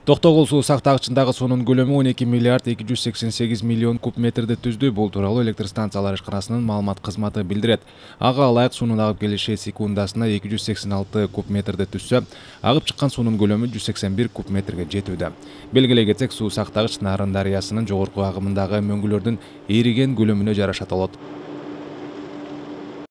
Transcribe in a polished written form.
Токтогул суу сактагычындагы суунун көлөмү 12 миллиард 288 миллион куб метрди түздү. Бул тууралуу электр станциялар ишканасынын маалымат кызматы билдирет. Ага ылайык суунун агып келиши секундасына 286 куб метрди түзсө, агып чыккан суунун көлөмү 181 куб метрге жетүүдө. Белгилей кетсек, суу сактагыч Нарын дарыясынын жогорку агымындагы мөңгүлөрдүн эриген көлөмүнө жараша толот.